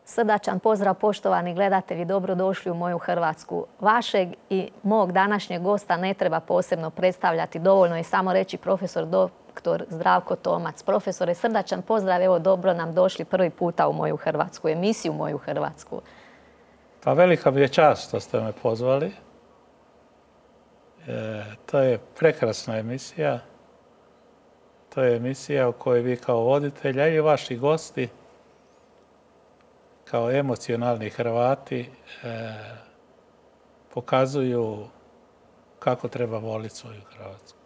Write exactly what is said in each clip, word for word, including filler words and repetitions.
Srdačan pozdrav poštovani gledatelji, dobrodošli u moju Hrvatsku. Vašeg i mog današnjeg gosta ne treba posebno predstavljati, dovoljno je samo reći profesor doktor Zdravko Tomac. Profesore, srdačan pozdrav, evo dobro nam došli prvi puta u moju Hrvatsku, emisiju Moju Hrvatsku. Pa velika mi je čast što ste me pozvali. E, to je prekrasna emisija. To je emisija u kojoj vi kao voditelj, i vaši gosti, kao emocionalni Hrvati, e, pokazuju kako treba voliti svoju Hrvatsku.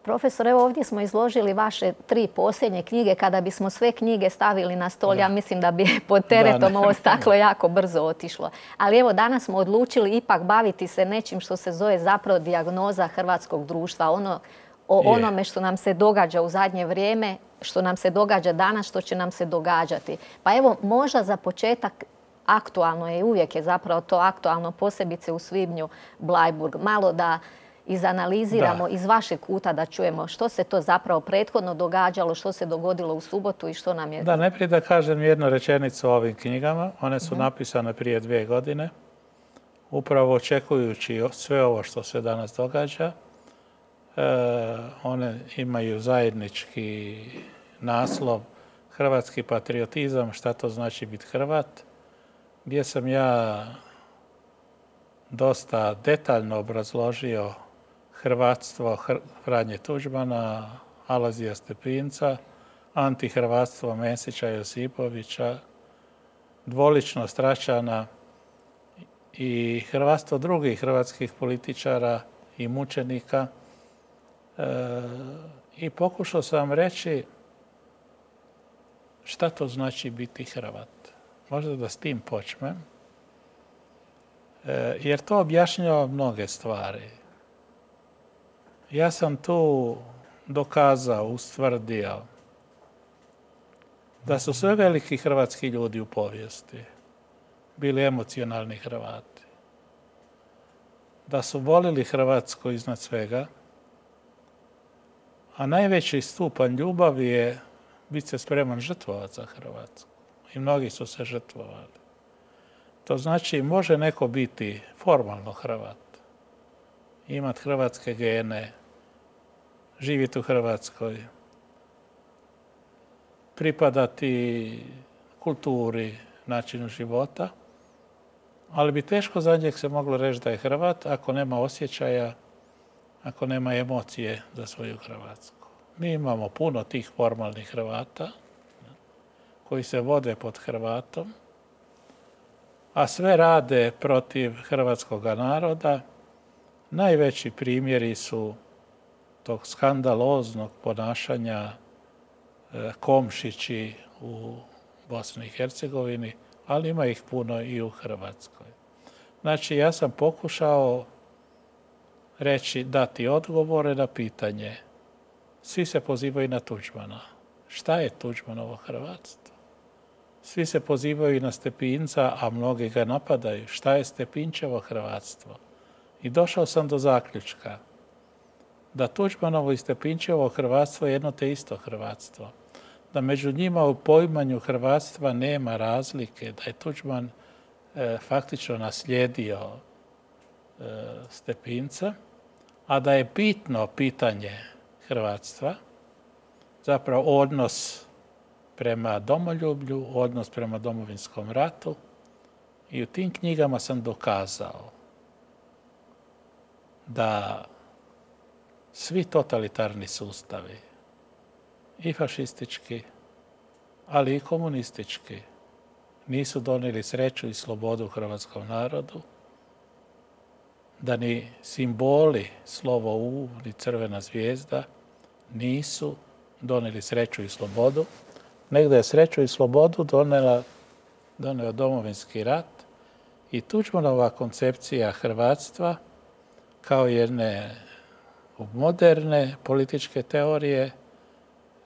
Profesor, evo ovdje smo izložili vaše tri posljednje knjige. Kada bismo sve knjige stavili na stol, da. ja mislim da bi pod teretom ovo staklo jako brzo otišlo. Ali evo danas smo odlučili ipak baviti se nečim što se zove zapravo dijagnoza hrvatskog društva. Ono, o onome što nam se događa u zadnje vrijeme, što nam se događa danas, što će nam se događati. Pa evo, možda za početak aktualno je, uvijek je zapravo to aktualno, posebice u svibnju Bleiburg. Malo da izanaliziramo da. iz vašeg kuta, da čujemo što se to zapravo prethodno događalo, što se dogodilo u subotu i što nam je... Da, najprije da kažem jednu rečenicu o ovim knjigama. One su mm-hmm. napisane prije dvije godine, upravo očekujući sve ovo što se danas događa. E, one imaju zajednički naslov Hrvatski patriotizam, šta to znači biti Hrvat, gdje sam ja dosta detaljno obrazložio hrvatstvo Franje Tuđmana, Alojzija Stepinca, antihrvatstvo Mesića Josipovića, dvoličnost Račana i hrvatstvo drugih hrvatskih političara i mučenika. E, I pokušao sam reći šta to znači biti Hrvat. Možda da s tim počnem. E, jer to objašnjava mnoge stvari. Ja sam tu dokazao, ustvrdio da su sve veliki hrvatski ljudi u povijesti bili emocionalni Hrvati. Da su volili Hrvatsku iznad svega, a najveći stupanj ljubavi je biti se spreman žrtvovati za Hrvatsku. I mnogi su se žrtvovali. To znači, može neko biti formalno Hrvat, imati hrvatske gene, živjeti u Hrvatskoj, pripadati kulturi, načinu života, ali bi teško za njeg se moglo reći da je Hrvat ako nema osjećaja, ako nema emocije za svoju Hrvatsku. Mi imamo puno tih formalnih Hrvata koji se vode pod Hrvatom, a sve rade protiv hrvatskog naroda. Najveći primjeri su tog skandaloznog ponašanja Komšići u Bosni i Hercegovini, ali ima ih puno i u Hrvatskoj. Znači, ja sam pokušao reći, dati odgovore na pitanje. Svi se pozivaju na Tuđmana. Šta je Tuđmanovo hrvatstvo? Svi se pozivaju na Stepinca, a mnogi ga napadaju. Šta je Stepinčevo hrvatstvo? I došao sam do zaključka da Tuđmanovo i Stepinčevo hrvatstvo je jedno te isto hrvatstvo. Da među njima u poimanju hrvatstva nema razlike, da je Tuđman e, faktično naslijedio e, Stepinca, a da je bitno pitanje hrvatstva, zapravo odnos prema domoljublju, odnos prema Domovinskom ratu. I u tim knjigama sam dokazao da svi totalitarni sustavi, i fašistički, ali i komunistički, nisu donijeli sreću i slobodu hrvatskom narodu, da ni simboli, slovo U, ni crvena zvijezda, nisu donijeli sreću i slobodu, nego je sreću i slobodu donela, doneo Domovinski rat i Tuđmanova koncepcija hrvatstva kao jedne moderne političke teorije,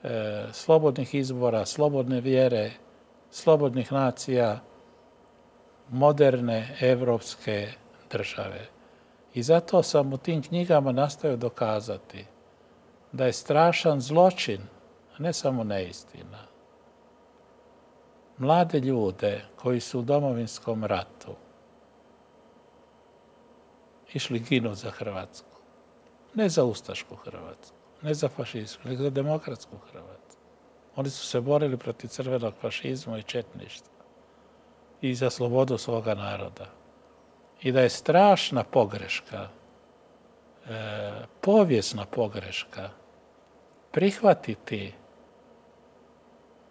e, slobodnih izbora, slobodne vjere, slobodnih nacija, moderne evropske države. I zato sam u tim knjigama nastojao dokazati da je strašan zločin, a ne samo neistina, mlade ljude koji su u Domovinskom ratu išli ginu za Hrvatsku. Ne za ustašku Hrvatsku, ne za fašizmu, nego za demokratsku Hrvatsku. Oni su se borili protiv crvenog fašizma i četništva i za slobodu svoga naroda. I da je strašna pogreška, e, povijesna pogreška, prihvatiti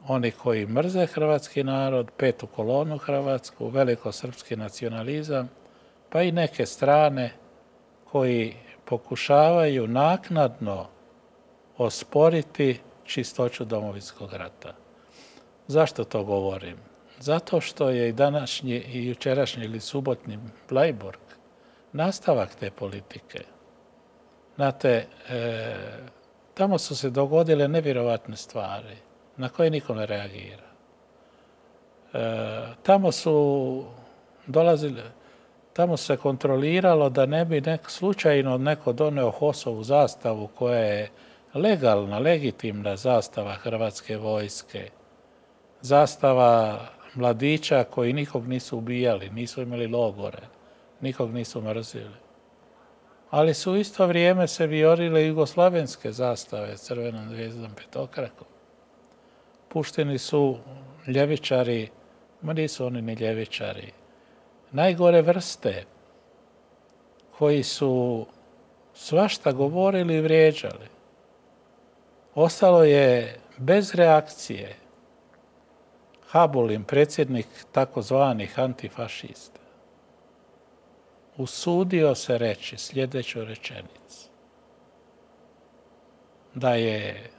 oni koji mrze hrvatski narod, petu kolonu hrvatsku, velikosrpski nacionalizam, pa i neke strane koji pokušavaju naknadno osporiti čistoću Domovinskog rata. Zašto to govorim? Zato što je i današnji i jučerašnji ili subotni Bleiburg nastavak te politike. Znate, e, tamo su se dogodile nevjerovatne stvari na koje niko ne reagira. E, tamo su dolazili, tamo se kontroliralo da ne bi nek, slučajno neko doneo Hosovu zastavu koja je legalna, legitimna zastava Hrvatske vojske. Zastava mladića koji nikog nisu ubijali, nisu imali logore, nikog nisu mrzili. Ali su u isto vrijeme se viorile jugoslavenske zastave s crvenom zvijezdom petokrakom. Pušteni su ljevičari, ma nisu oni ni ljevičari, najgore vrste koji su svašta govorili i vrijeđali. Ostalo je bez reakcije Habulin, predsjednik takozvanih antifašista, usudio se reći sljedeću rečenicu. Da je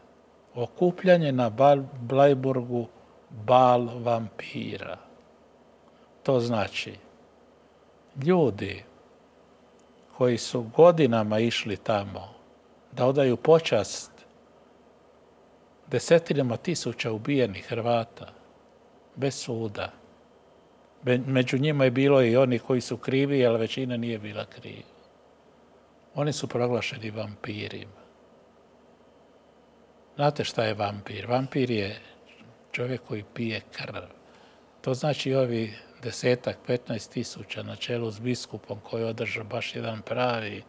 okupljanje na Bleiburgu bal vampira. To znači, ljudi koji su godinama išli tamo da odaju počast desetinama tisuća ubijenih Hrvata bez suda. Među njima je bilo i oni koji su krivi, ali većina nije bila kriva. Oni su proglašeni vampirima. Znate šta je vampir? Vampir je čovjek koji pije krv. To znači ovi desetak, petnaest tisuća na čelu s biskupom koji održa baš jedan pravi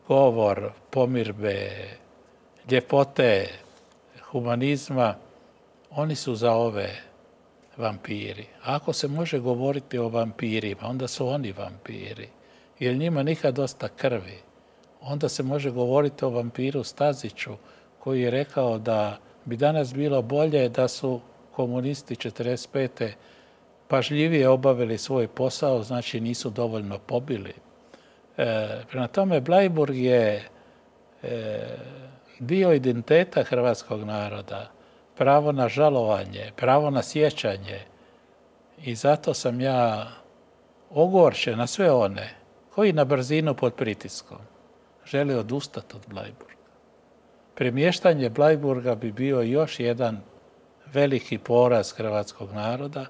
govor pomirbe, ljepote, humanizma, oni su za ove vampiri. A ako se može govoriti o vampirima, onda su oni vampiri. Jer njima nikad dosta krvi. Onda se može govoriti o vampiru Staziću koji je rekao da bi danas bilo bolje da su komunisti četrdeset pete pažljivije obavili svoj posao, znači nisu dovoljno pobili. E, prema tome, Bleiburg je e, dio identiteta hrvatskog naroda, pravo na žalovanje, pravo na sjećanje. I zato sam ja ogorčen na sve one koji na brzinu pod pritiskom žele odustati od Bleiburga. Premještanje Bleiburga bi bio još jedan veliki poraz hrvatskog naroda,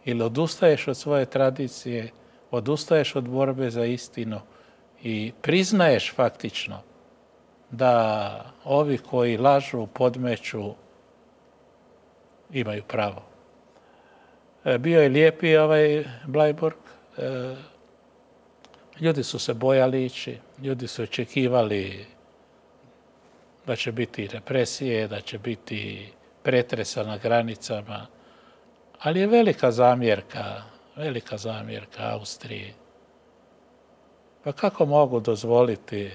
ili odustaješ od svoje tradicije, odustaješ od borbe za istinu i priznaješ faktično da ovi koji lažu, podmeću, imaju pravo. Bio je lijepi ovaj Bleiburg. Ljudi su se bojali ići, ljudi su očekivali da će biti represije, da će biti pretresa na granicama, ali je velika zamjerka, velika zamjerka Austriji. Pa kako mogu dozvoliti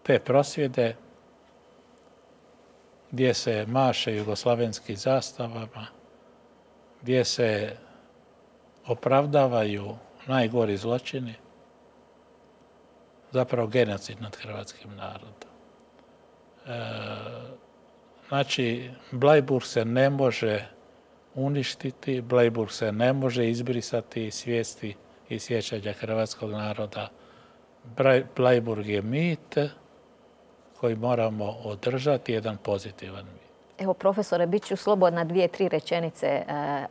te prosvjede gdje se maše jugoslavenskim zastavama, gdje se opravdavaju najgori zločini, zapravo genocid nad hrvatskim narodom. E, znači, Bleiburg se ne može uništiti, Bleiburg se ne može izbrisati iz svijesti i sjećanja hrvatskog naroda. Bleiburg je mit koji moramo održati, jedan pozitivan mit. Evo, profesore, bit ću slobodna dvije, tri rečenice e,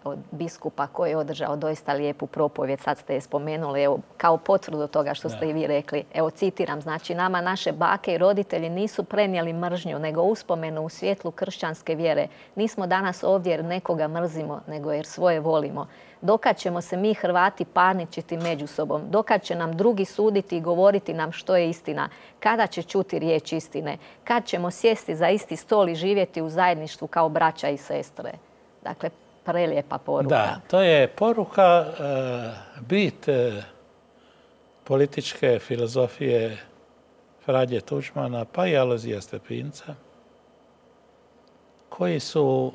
od biskupa koji je održao doista lijepu propovjed. Sad ste je spomenuli, evo, kao potvrdu toga što ste i vi rekli. Evo, citiram, znači, nama naše bake i roditelji nisu prenijeli mržnju, nego uspomenu u svjetlu kršćanske vjere. Nismo danas ovdje jer nekoga mrzimo, nego jer svoje volimo. Dokad ćemo se mi Hrvati parničiti među sobom? Dokad će nam drugi suditi i govoriti nam što je istina? Kada će čuti riječ istine? Kad ćemo sjesti za isti stol i živjeti u zajedništvu kao braća i sestre? Dakle, prelijepa poruka. Da, to je poruka, bit političke filozofije Franje Tuđmana pa i Alojzija Stepinca, koji su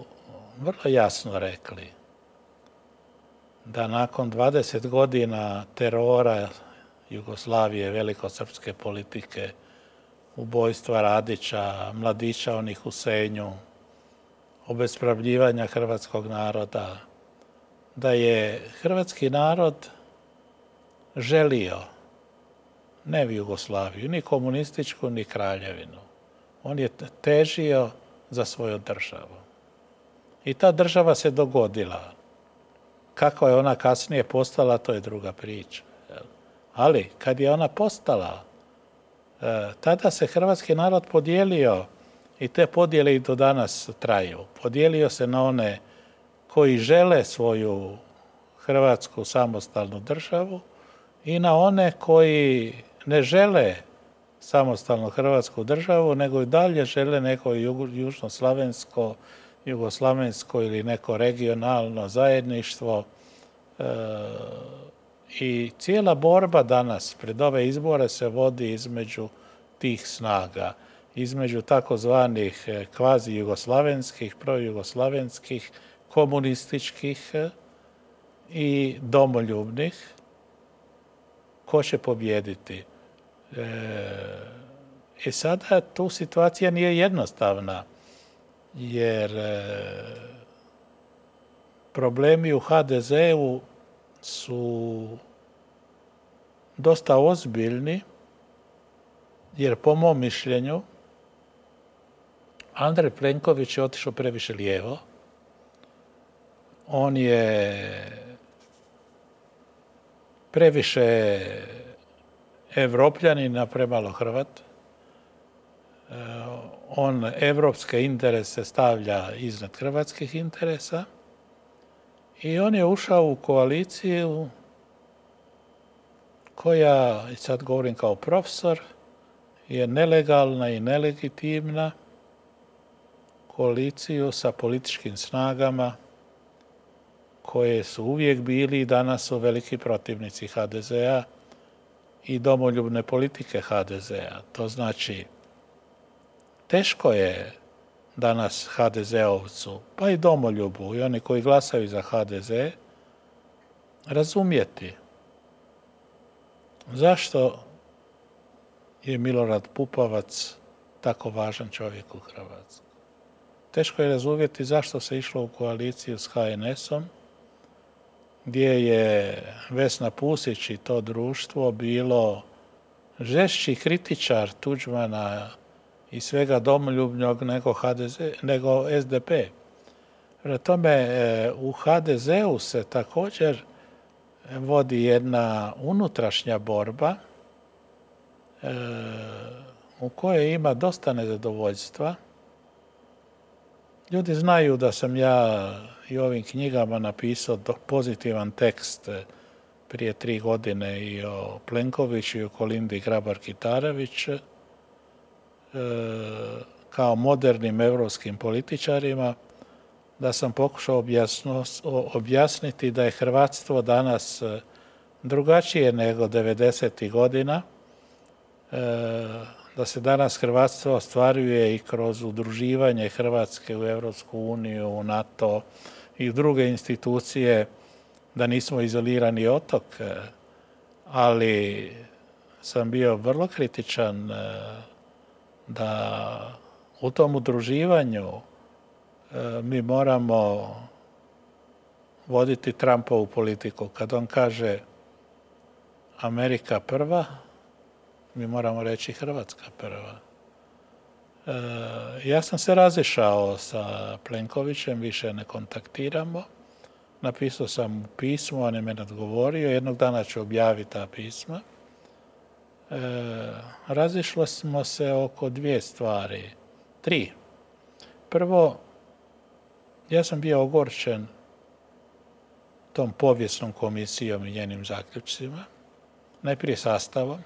vrlo jasno rekli da nakon dvadeset godina terora Jugoslavije, velikosrpske politike, ubojstva Radića, mladića onih u Senju, obespravljivanja hrvatskog naroda, da je hrvatski narod želio ne Jugoslaviju, ni komunističku, ni kraljevinu. On je težio za svoju državu. I ta država se dogodila. Kako je ona kasnije postala, to je druga priča. Ali kad je ona postala, tada se hrvatski narod podijelio i te podjele i do danas traju. Podijelio se na one koji žele svoju hrvatsku samostalnu državu i na one koji ne žele samostalnu hrvatsku državu, nego i dalje žele neko južnoslavensko, jugoslavensko ili neko regionalno zajedništvo. E, I cijela borba danas pred ove izbore se vodi između tih snaga, između takozvanih kvazi jugoslavenskih, projugoslavenskih, komunističkih i domoljubnih. Ko će pobijediti? E, I sada tu situacija nije jednostavna, jer e, problemi u ha de zeu su dosta ozbiljni, jer po mom mišljenju Andrej Plenković je otišao previše lijevo. On je previše Evropljanin, a premalo Hrvat. On evropske interese stavlja iznad hrvatskih interesa i on je ušao u koaliciju koja, i sad govorim kao profesor, je nelegalna i nelegitimna, koaliciju sa političkim snagama koje su uvijek bili i danas su veliki protivnici ha de zea i domoljubne politike ha de zea. To znači, teško je danas ha de zeovcu, pa i domoljubu i oni koji glasaju za ha de ze, razumjeti zašto je Milorad Pupovac tako važan čovjek u Hrvatskoj. Teško je razumjeti zašto se išlo u koaliciju s ha en esom, gdje je Vesna Pusić i to društvo bilo žešći kritičar Tuđmana i svega domoljubnog nego, ha de ze, nego es de pe. Prema tome, u ha de zeu se također vodi jedna unutrašnja borba e, u kojoj ima dosta nezadovoljstva. Ljudi znaju da sam ja i ovim knjigama napisao pozitivan tekst prije tri godine i o Plenkoviću i o Kolindi Grabar-Kitarović e, kao modernim europskim političarima, da sam pokušao objasno, objasniti da je hrvatstvo danas drugačije nego devedesetih godina, e, da se danas hrvatstvo ostvaruje i kroz udruživanje Hrvatske u Europsku uniju, u NATO i u druge institucije, da nismo izolirani otok, ali sam bio vrlo kritičan da u tom udruživanju mi moramo voditi Trumpovu politiku. Kad on kaže Amerika prva, mi moramo reći Hrvatska prva. ja sam se razišao sa Plenkovićem, više ne kontaktiramo. Napisao sam mu pismo, on je meni odgovorio. Jednog dana ću objaviti ta pisma. E, razišli smo se oko dvije stvari. Tri. Prvo, ja sam bio ogorčen tom povijesnom komisijom i njenim zaključcima. Najprije sastavom.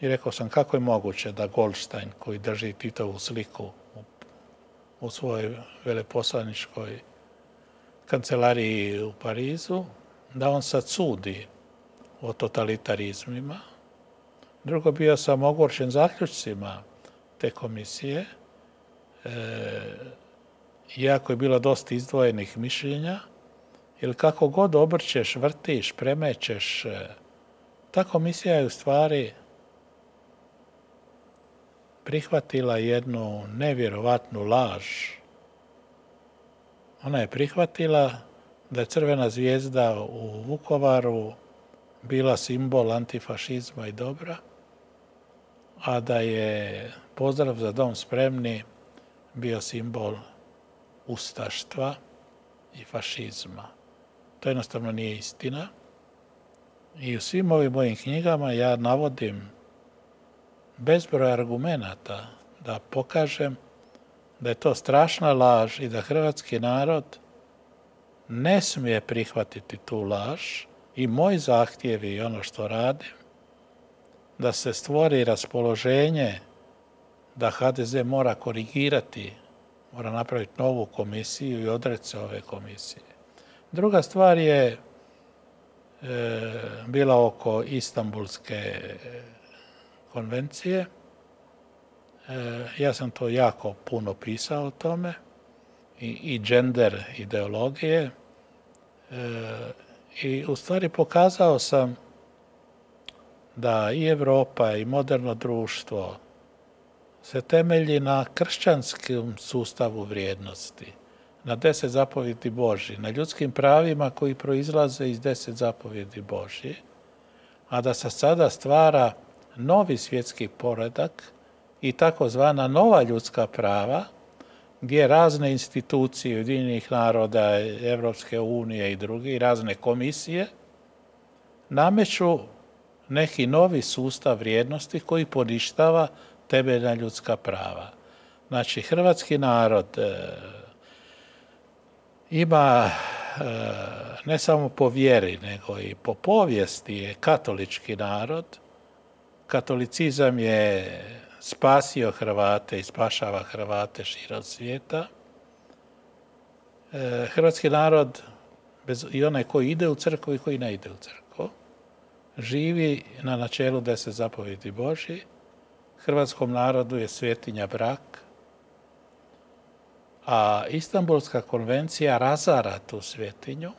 I rekao sam kako je moguće da Goldstein, koji drži Titovu sliku u, u svojoj veleposlaničkoj kancelariji u Parizu, da on sad sudi o totalitarizmima. Drugo, bio sam ogorčen zaključcima te komisije. E, iako je bilo dosta izdvojenih mišljenja, ili kako god obrćeš, vrtiš, premećeš, ta komisija je u stvari prihvatila jednu nevjerovatnu laž. Ona je prihvatila da je crvena zvijezda u Vukovaru bila simbol antifašizma i dobra, a da je pozdrav za dom spremni bio simbol ustaštva i fašizma. To jednostavno nije istina. I u svim ovim mojim knjigama ja navodim bezbroj argumenata da pokažem da je to strašna laž i da hrvatski narod ne smije prihvatiti tu laž i moj zahtjev i ono što radim, da se stvori raspoloženje da ha de ze mora korigirati, mora napraviti novu komisiju i odreći se ove komisije. Druga stvar je e, bila oko Istanbulske konvencije. E, ja sam to jako puno pisao o tome i, i gender ideologije. E, I u stvari pokazao sam da i Europa i moderno društvo se temelji na kršćanskom sustavu vrijednosti, na deset zapovjedi Božji, na ljudskim pravima koji proizlaze iz deset zapovjedi Božji, a da se sada stvara novi svjetski poredak i takozvana nova ljudska prava, gdje razne institucije Ujedinjenih naroda, Evropske unije i drugi, razne komisije, nameću neki novi sustav vrijednosti koji poništava temeljna ljudska prava. Znači, hrvatski narod e, ima e, ne samo po vjeri, nego i po povijesti je katolički narod. Katolicizam je spasio Hrvate i spašava Hrvate širom svijeta. E, hrvatski narod, bez, i onaj koji ide u crkvu i koji ne ide u crkvu, živi na načelu deset zapovjedi Božji. Hrvatskom narodu je svetinja brak, a Istanbulska konvencija razara tu svetinju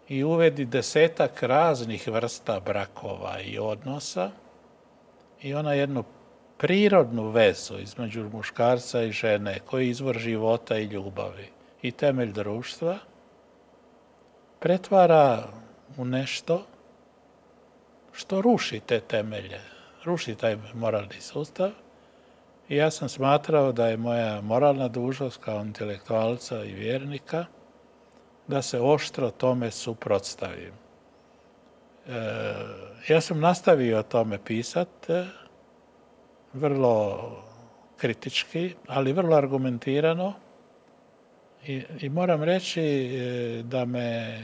i uvedi desetak raznih vrsta brakova i odnosa i ona jednu prirodnu vezu između muškarca i žene koji je izvor života i ljubavi i temelj društva pretvara u nešto što ruši te temelje, ruši taj moralni sustav. I ja sam smatrao da je moja moralna dužnost kao intelektualca i vjernika da se oštro tome suprotstavim. E, ja sam nastavio o tome pisati, vrlo kritički, ali vrlo argumentirano. I, i moram reći da me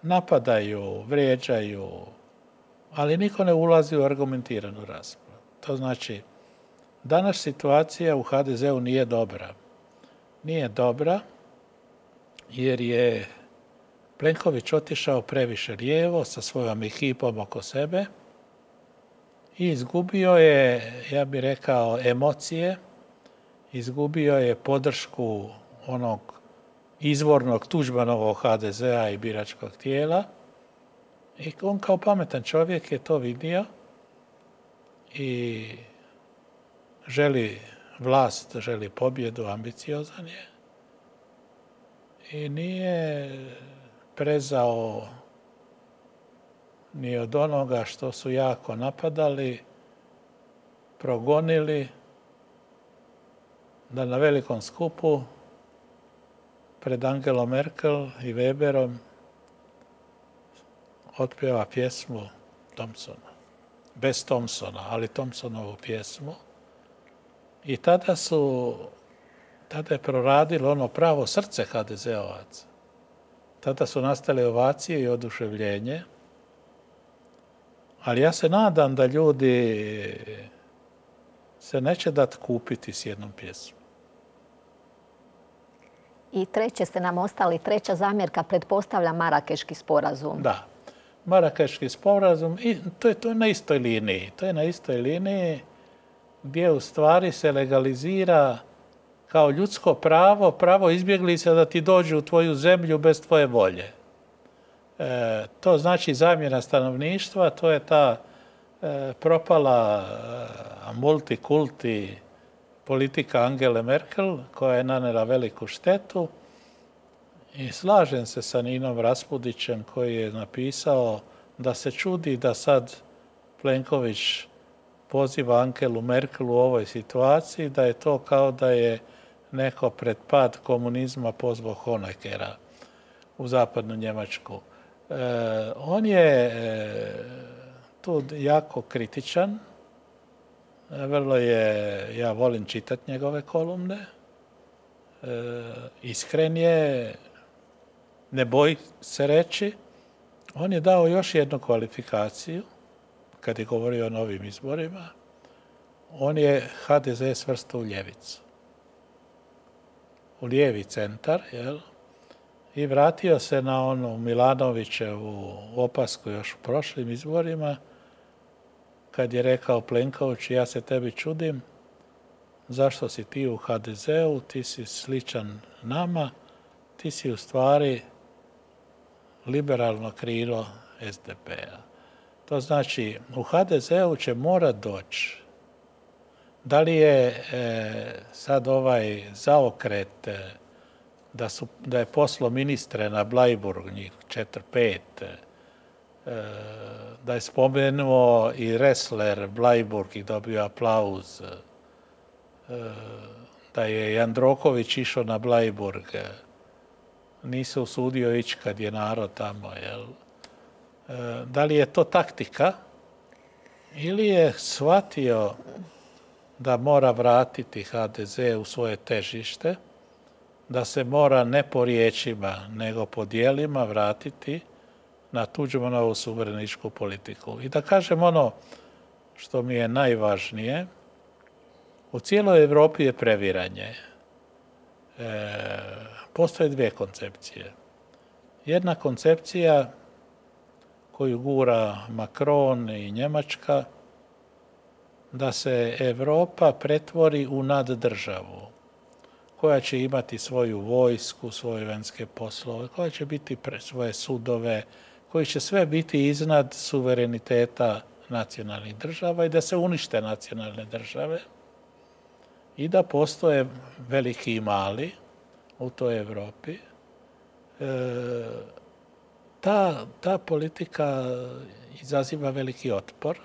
napadaju, vrijeđaju, ali niko ne ulazi u argumentiranu raspravu. To znači, danas situacija u ha de zeu nije dobra. Nije dobra jer je Plenković otišao previše lijevo sa svojom ekipom oko sebe i izgubio je, ja bih rekao, emocije, izgubio je podršku onog izvornog Tuđmanovog ha de zea i biračkog tijela i on kao pametan čovjek je to vidio i želi vlast, želi pobjedu, ambiciozan je i nije prezao ni od onoga što su jako napadali, progonili da na velikom skupu pred Angelom Merkel i Weberom otpjeva pjesmu Thompsona. Bez Thompsona, ali Thompsonovu pjesmu. I tada su, tada je proradilo ono pravo srce ha de zeovaca. Tada su nastale ovacije i oduševljenje. Ali ja se nadam da ljudi se neće dati kupiti s jednom pjesmom. I treće ste nam ostali, treća zamjerka, pretpostavlja Marakeški sporazum. Da. Marakeški sporazum, i to je to na istoj liniji. To je na istoj liniji gdje u stvari se legalizira kao ljudsko pravo, pravo izbjeglica da ti dođu u tvoju zemlju bez tvoje volje. E, to znači zamjena stanovništva, to je ta e, propala e, multikulti politika Angele Merkel koja je nanela veliku štetu. I slažem se sa Ninom Raspudićem koji je napisao da se čudi da sad Plenković poziva Angelu Merkel u ovoj situaciji, da je to kao da je neko pred pad komunizma pozvao Honeckera u zapadnu Njemačku. E, on je e, tu jako kritičan. E, vrlo je, ja volim čitati njegove kolumne. E, iskren je, ne boji se reći. On je dao još jednu kvalifikaciju kad je govorio o novim izborima. On je ha de ze svrstao u ljevicu. U lijevi centar, jel? I vratio se na onu Milanovićevu opasku još u prošlim izborima, kad je rekao Plenković, ja se tebi čudim, zašto si ti u ha de zeu, ti si sličan nama, ti si u stvari liberalno krilo es de pe-a. To znači, u ha de zeu će morat doći. Da li je e, sad ovaj zaokret e, da, su, da je poslo ministre na Blajburg, njih četiri pet, e, da je spomenuo i Ressler Blajburg i dobio aplauz, e, da je Jandroković išao na Blajburg, e, nisu usudio ići kad je narod tamo, jel? E, da li je to taktika ili je shvatio da mora vratiti ha de ze u svoje težište, da se mora ne po riječima, nego po dijelima vratiti na Tuđmanovu suvereničku politiku. I da kažem ono što mi je najvažnije, u cijeloj Europi je previranje. E, postoje dvije koncepcije. Jedna koncepcija koju gura Macron i Njemačka, da se Europa pretvori u naddržavu, koja će imati svoju vojsku, svoje vanjske poslove, koja će biti svoje sudove, koji će sve biti iznad suvereniteta nacionalnih država i da se unište nacionalne države i da postoje veliki i mali u toj Europi. E, ta, ta politika izaziva veliki otpor.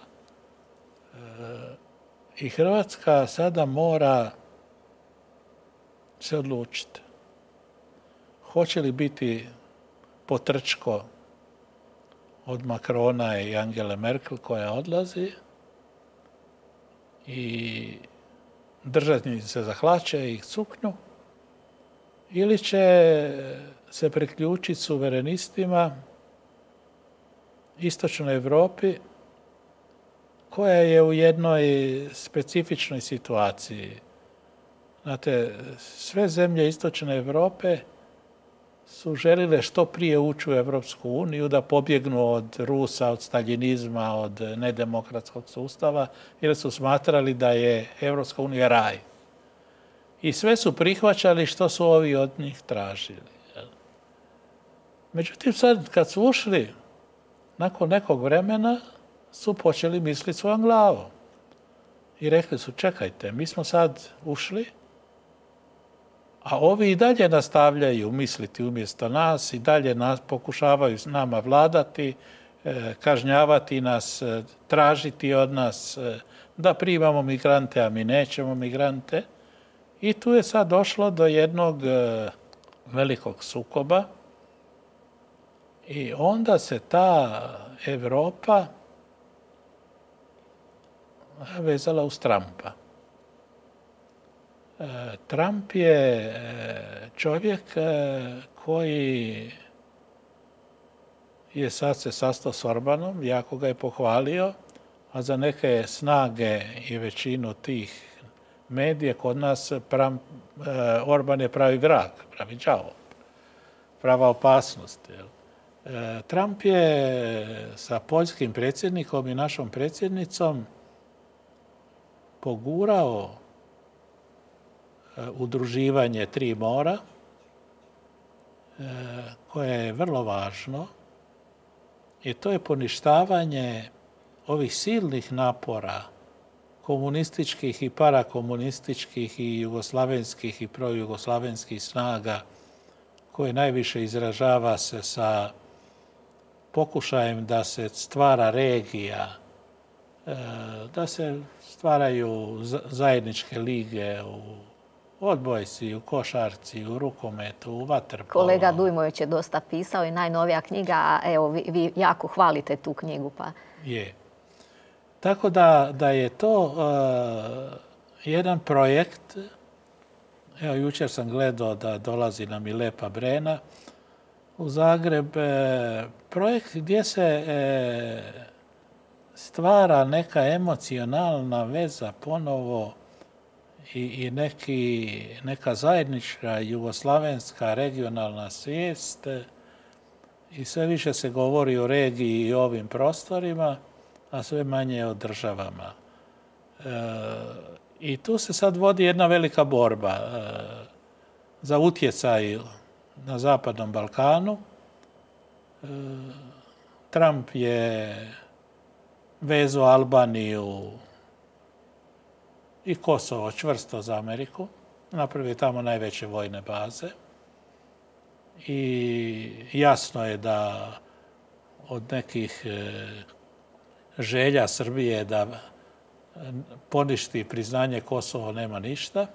I Hrvatska sada mora se odlučiti. Hoće li biti potrčko od Macrona i Angele Merkel koja odlazi i držati se za hlače i suknju, ili će se priključiti suverenistima istočnoj Europi koja je u jednoj specifičnoj situaciji. Znate, sve zemlje istočne Europe su želile što prije ući u Europsku uniju, da pobjegnu od Rusa, od staljinizma, od nedemokratskog sustava, jer su smatrali da je Europska unija raj. I sve su prihvaćali što su ovi od njih tražili. Međutim, sad kad su ušli, nakon nekog vremena, su počeli misliti svojom glavom. I rekli su, čekajte, mi smo sad ušli, a ovi i dalje nastavljaju misliti umjesto nas, i dalje nas pokušavaju s nama vladati, kažnjavati nas, tražiti od nas da primamo migrante, a mi nećemo migrante. I tu je sad došlo do jednog velikog sukoba i onda se ta Evropa vezala uz Trumpa. Trump je čovjek koji je sad se sastao s Orbanom, jako ga je pohvalio, a za neke snage i većinu tih medija kod nas Pram, Orban je pravi vrag, pravi đavo, prava opasnost. Trump je sa poljskim predsjednikom i našom predsjednicom pogurao udruživanje tri mora, koje je vrlo važno, i to je poništavanje ovih silnih napora komunističkih i parakomunističkih i jugoslavenskih i projugoslavenskih snaga, koje najviše izražava se sa pokušajem da se stvara regija, da se stvaraju zajedničke lige u odbojci, u košarci, u rukometu, u vaterpolu. Kolega Dujmović je dosta pisao i najnovija knjiga, a evo vi, vi jako hvalite tu knjigu. Pa. Je. Tako da, da je to uh, jedan projekt. Evo, jučer sam gledao da dolazi nam i Lepa Brena u Zagreb. E, projekt gdje se e, stvara neka emocionalna veza ponovo i, i neki, neka zajednička jugoslavenska regionalna svijest. I sve više se govori o regiji i ovim prostorima, a sve manje o državama. E, I tu se sad vodi jedna velika borba e, za utjecaj na Zapadnom Balkanu. E, Trump je vezao Albaniju i Kosovo čvrsto za Ameriku. Napravio tamo najveće vojne baze. I jasno je da od nekih e, želja Srbije da poništi priznanje Kosovo nema ništa.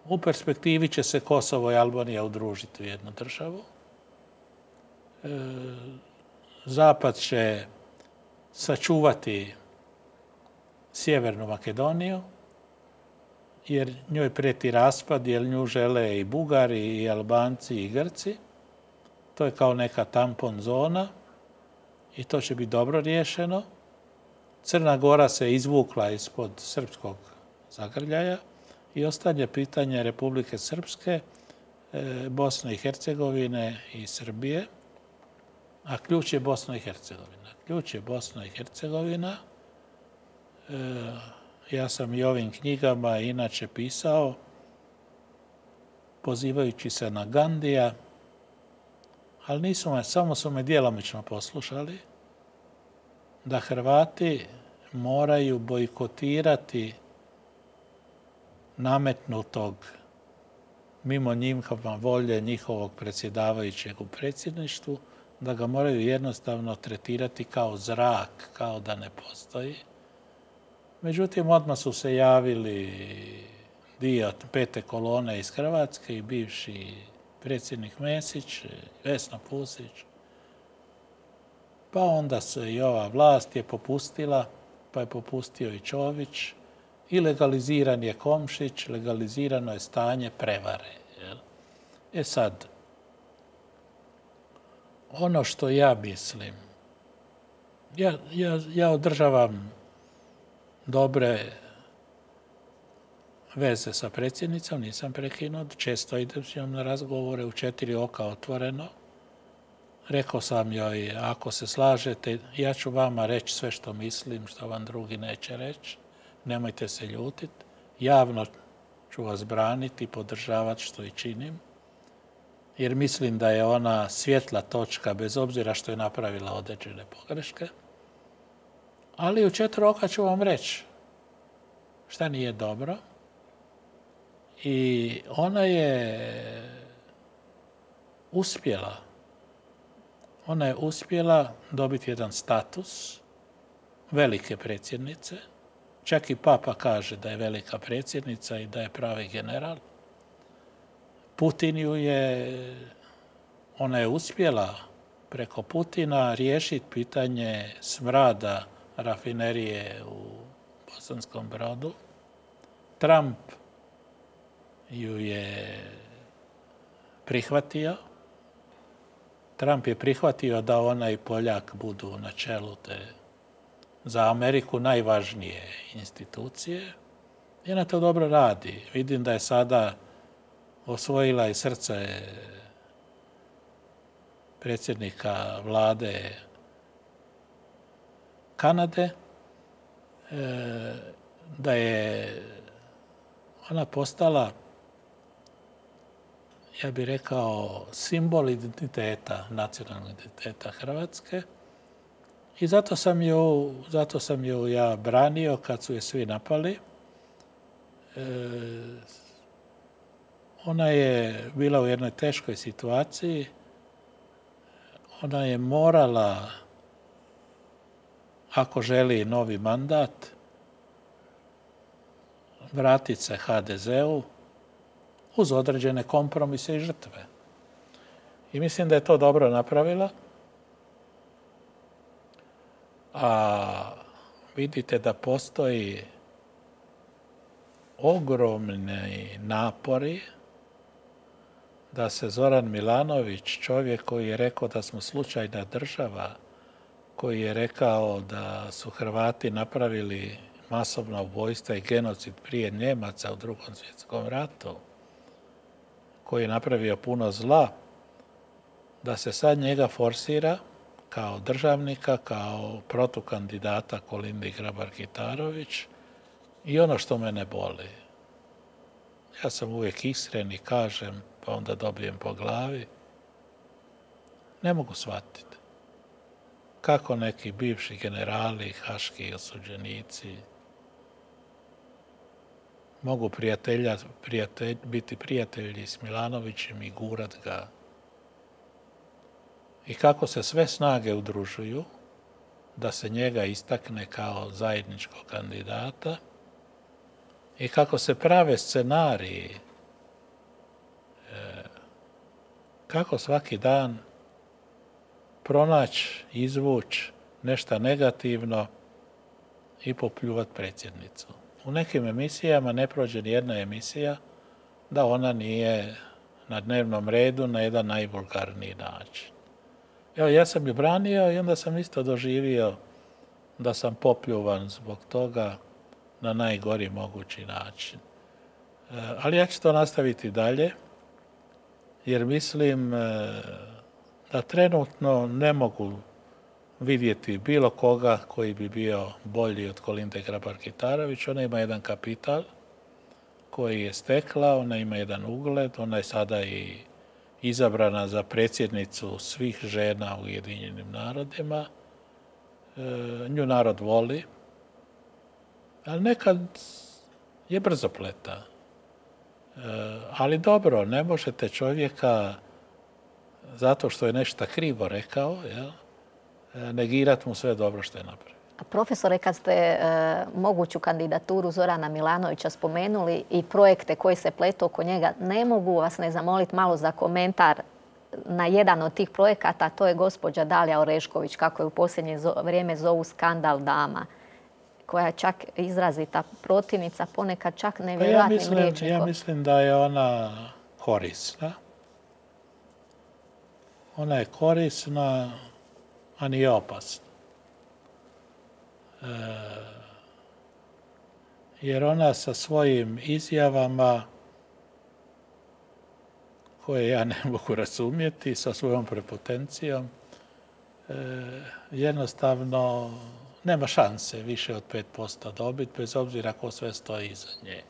U perspektivi će se Kosovo i Albanija udružiti u jednu državu. Zapad će sačuvati Sjevernu Makedoniju, jer njoj prijeti raspad, jer nju žele i Bugari, i Albanci, i Grci. To je kao neka tampon zona i to će biti dobro riješeno. Crna Gora se izvukla ispod srpskog zagrljaja i ostanje pitanje Republike Srpske, Bosne i Hercegovine i Srbije, a ključ je Bosna i Hercegovina. Ključ je Bosna i Hercegovina. Ja sam i ovim knjigama inače pisao, pozivajući se na Gandija, ali nisu me, samo su me djelomično poslušali, da Hrvati moraju bojkotirati nametnutog mimo njihova volje njihovog predsjedavajućeg u predsjedništvu, da ga moraju jednostavno tretirati kao zrak, kao da ne postoji. Međutim, odmah su se javili dio pete kolone iz Hrvatske i bivši predsjednik Mesić, Vesna Pusić. Pa onda se i ova vlast je popustila, pa je popustio i Čović. I legaliziran je Komšić, legalizirano je stanje prevare. Jel? E sad, ono što ja mislim, ja, ja, ja održavam dobre veze sa predsjednicom, nisam prekinut, često idem s njom na razgovore u četiri oka otvoreno. Rekao sam joj, ako se slažete, ja ću vama reći sve što mislim, što vam drugi neće reći. Nemojte se ljutiti. Javno ću vas braniti i podržavati što i činim. Jer mislim da je ona svjetla točka, bez obzira što je napravila određene pogreške. Ali u četiri oka ću vam reći šta nije dobro. I ona je uspjela. Ona je uspjela dobiti jedan status velike predsjednice. Čak i Papa kaže da je velika predsjednica i da je pravi general. Putin ju je, ona je uspjela preko Putina riješiti pitanje smrada rafinerije u Bosanskom Brodu. Trump ju je prihvatio. Trump je prihvatio da ona i Poljak budu na čelu te za Ameriku najvažnije institucije. I ona to dobro radi. Vidim da je sada osvojila i srce predsjednika vlade Kanade, da je ona postala, ja bih rekao, simbol identiteta, nacionalnog identiteta Hrvatske. I zato sam ju, zato sam ju ja branio kad su je svi napali. E, ona je bila u jednoj teškoj situaciji. Ona je morala, ako želi novi mandat, vratiti se ha de zeu uz određene kompromise i žrtve. I mislim da je to dobro napravila. A vidite da postoji ogromni napori da se Zoran Milanović, čovjek koji je rekao da smo slučajna država, koji je rekao da su Hrvati napravili masovna ubojstva i genocid prije Njemaca u Drugom svjetskom ratu, koji je napravio puno zla, da se sad njega forsira kao državnika, kao protukandidata Kolindi Grabar-Kitarović. I ono što mene boli, ja sam uvijek iskren i kažem, pa onda dobijem po glavi, ne mogu shvatiti kako neki bivši generali, haški osuđenici mogu prijatelja, prijatelj, biti prijatelji s Milanovićem i gurat ga. I kako se sve snage udružuju da se njega istakne kao zajedničkog kandidata i kako se prave scenariji, kako svaki dan pronaći, izvući nešto negativno i popljuvati predsjednicu. U nekim emisijama ne prođe ni jedna emisija da ona nije na dnevnom redu na jedan najvulgarniji način. Evo, ja sam ju branio i onda sam isto doživio da sam popljuvan zbog toga na najgori mogući način. Ali ja ću to nastaviti dalje, jer mislim da trenutno ne mogu vidjeti bilo koga koji bi bio bolji od Kolinde Grabar-Kitarović. Ona ima jedan kapital koji je stekla, ona ima jedan ugled, ona je sada i izabrana za predsjednicu svih žena u Ujedinjenim narodima. E, nju narod voli, ali nekad je brzopleta. E, ali dobro, ne možete čovjeka zato što je nešto krivo rekao, jel, negirati mu sve dobro što je napravio. Profesore, kad ste e, moguću kandidaturu Zorana Milanovića spomenuli i projekte koji se pletu oko njega, ne mogu vas ne zamoliti malo za komentar na jedan od tih projekata, to je gospođa Dalija Orešković, kako je u posljednje vrijeme zovu skandal dama, koja je čak izrazita protivnica, ponekad čak nevjerojatnim pa ja rječnikom. Ja mislim da je ona korisna. Ona je korisna, a nije opasna. E, jer ona sa svojim izjavama, koje ja ne mogu razumjeti, sa svojom prepotencijom, e, jednostavno nema šanse više od pet posto dobiti, bez obzira ko sve stoji iza nje.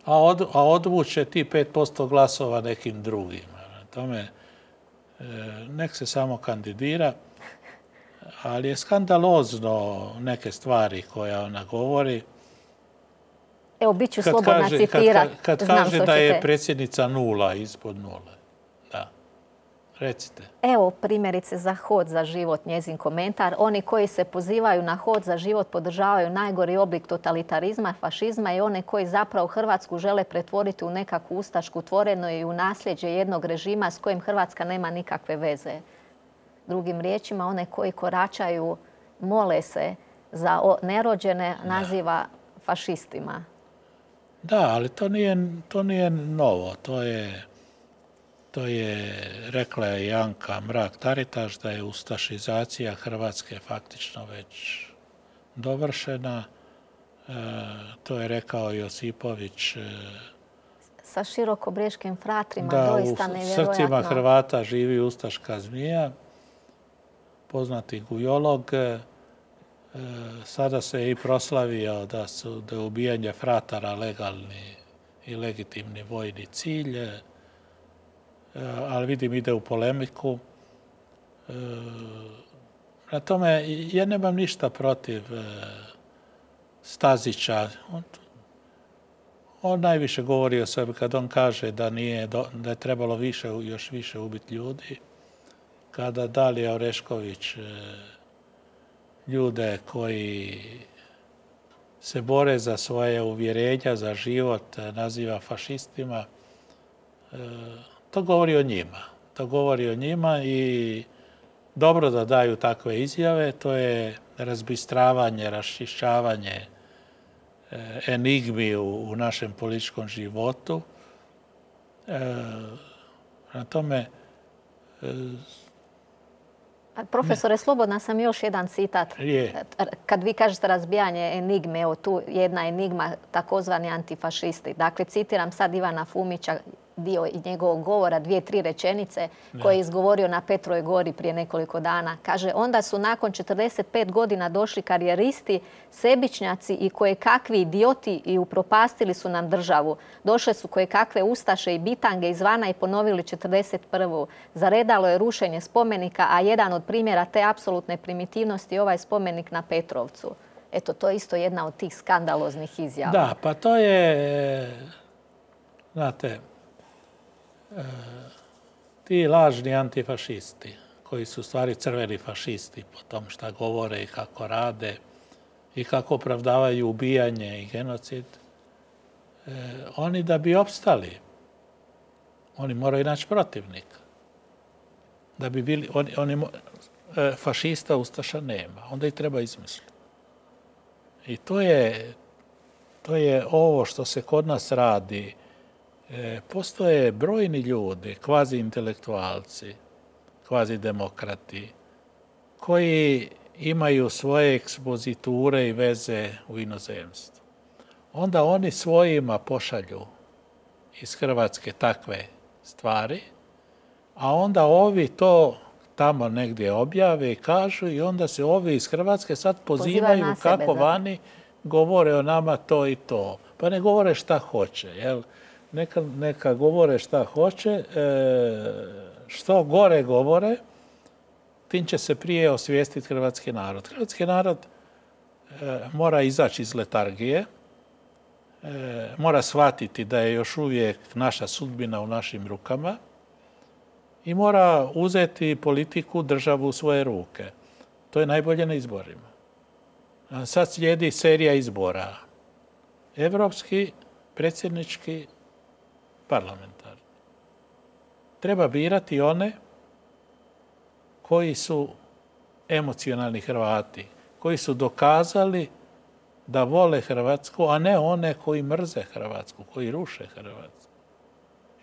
A, od, a odvuče ti pet posto glasova nekim drugima. Tome, e, nek se samo kandidira, ali je skandalozno neke stvari koje ona govori. Evo, bit ću slobodna citirati. Kad, kad, kad kaže da je predsjednica nula, ispod nule. Da. Recite. Evo primjerice za Hod za život, njezin komentar. Oni koji se pozivaju na Hod za život podržavaju najgori oblik totalitarizma, fašizma i one koji zapravo Hrvatsku žele pretvoriti u nekakvu ustašku tvorenu i u nasljeđe jednog režima s kojim Hrvatska nema nikakve veze. Drugim riječima, one koji koračaju, mole se za nerođene, naziva fašistima. Da, ali to nije, to nije novo. To je, to je, rekla je Janka Mrak-Taritaš, da je ustašizacija Hrvatske faktično već dovršena. E, to je rekao Josipović. E, Sa širokobreškim fratrima, da, doista nevjerojatno. Da, u srcima Hrvata živi ustaška zmija, poznati gujolog. E, sada se i proslavio da su da je ubijanje fratara legalni i legitimni vojni cilj, e, ali vidim ide u polemiku. E, na tome ja nemam ništa protiv e, Stazića. On, on najviše govori o sebi kad on kaže da, nije, da je trebalo više, još više ubiti ljudi. Kada Dalija Orešković ljude koji se bore za svoje uvjerenja, za život, naziva fašistima, to govori o njima. To govori o njima i dobro da daju takve izjave. To je razbistravanje, raščišćavanje enigmi u, u našem političkom životu. Na tome Profesore, slobodna sam još jedan citat. Je. Kad vi kažete razbijanje enigme, evo tu jedna enigma, takozvani antifašisti. Dakle, citiram sad Ivana Fumića, dio i njegovog govora, dvije, tri rečenice koje je izgovorio na Petrovoj gori prije nekoliko dana. Kaže, onda su nakon četrdeset pet godina došli karijeristi, sebičnjaci i koje kakvi idioti i upropastili su nam državu. Došle su koje kakve ustaše i bitange izvana i ponovili četrdeset prvu. Zaredalo je rušenje spomenika, a jedan od primjera te apsolutne primitivnosti je ovaj spomenik na Petrovcu. Eto, to je isto jedna od tih skandaloznih izjava. Da, pa to je, znate, ti lažni antifašisti, koji su u stvari crveni fašisti po tom šta govore i kako rade i kako opravdavaju ubijanje i genocid, oni da bi opstali, oni moraju naći protivnika. Da bi bili, oni, oni, fašista, ustaša nema, onda ih treba izmisliti. I to je, to je ovo što se kod nas radi. Postoje brojni ljudi, kvazi intelektualci, kvazi demokrati, koji imaju svoje ekspoziture i veze u inozemstvu. Onda oni svojima pošalju iz Hrvatske takve stvari, a onda ovi to tamo negdje objave i kažu i onda se ovi iz Hrvatske sad pozivaju kako vani govore o nama to i to. Pa ne govore šta hoće, jel? Neka, neka govore šta hoće, e, što gore govore, tim će se prije osvijestiti hrvatski narod. Hrvatski narod e, mora izaći iz letargije, e, mora shvatiti da je još uvijek naša sudbina u našim rukama i mora uzeti politiku, državu u svoje ruke. To je najbolje na izborima. A sad slijedi serija izbora. Evropski, predsjednički, parlamentarni. Treba birati one koji su emocionalni Hrvati, koji su dokazali da vole Hrvatsku, a ne one koji mrze Hrvatsku, koji ruše Hrvatsku.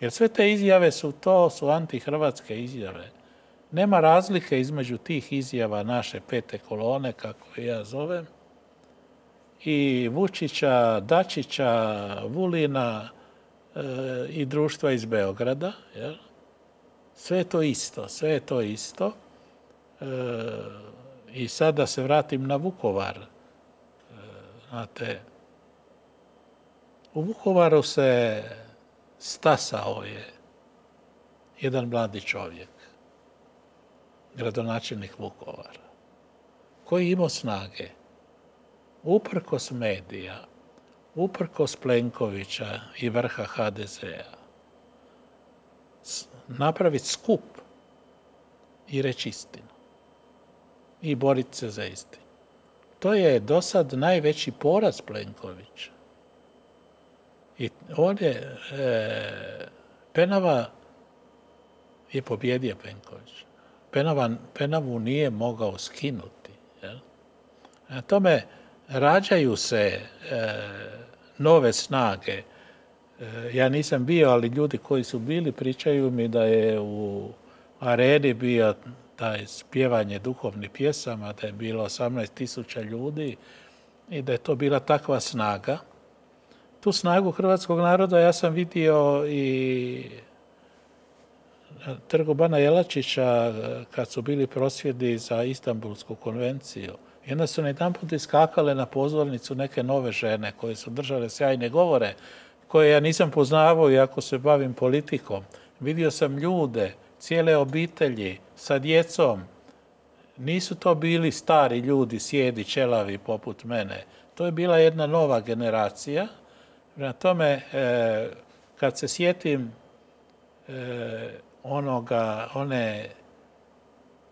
Jer sve te izjave su to, su antihrvatske izjave. Nema razlike između tih izjava naše pete kolone, kako ja zovem, i Vučića, Dačića, Vulina e, i društva iz Beograda. Jel? Sve je to isto, sve je to isto. E, I sad da se vratim na Vukovar. E, znate, u Vukovaru se stasao je jedan mladi čovjek, gradonačelnik Vukovara, koji imao snage, uprkos medija, uprkos Plenkovića i vrha ha de zea, napraviti skup i reći istinu. I boriti se za istinu. To je do sad najveći poraz Plenkovića. I on je, e, Penava je pobjedio Plenković. Penava, Penavu nije mogao skinuti. Jel? Na tome rađaju se e, nove snage. E, ja nisam bio, ali ljudi koji su bili pričaju mi da je u areni bio taj spjevanje duhovnih pjesama, da je bilo osamnaest tisuća ljudi i da je to bila takva snaga. Tu snagu hrvatskog naroda ja sam vidio i na trgu Bana Jelačića kad su bili prosvjedi za Istanbulsku konvenciju. I onda su jedanput iskakale na pozornicu neke nove žene koje su držale sjajne govore, koje ja nisam poznavao iako se bavim politikom. Vidio sam ljude, cijele obitelji sa djecom. Nisu to bili stari ljudi, sjedi, ćelavi poput mene. To je bila jedna nova generacija. Prema tome, e, kad se sjetim e, onoga, one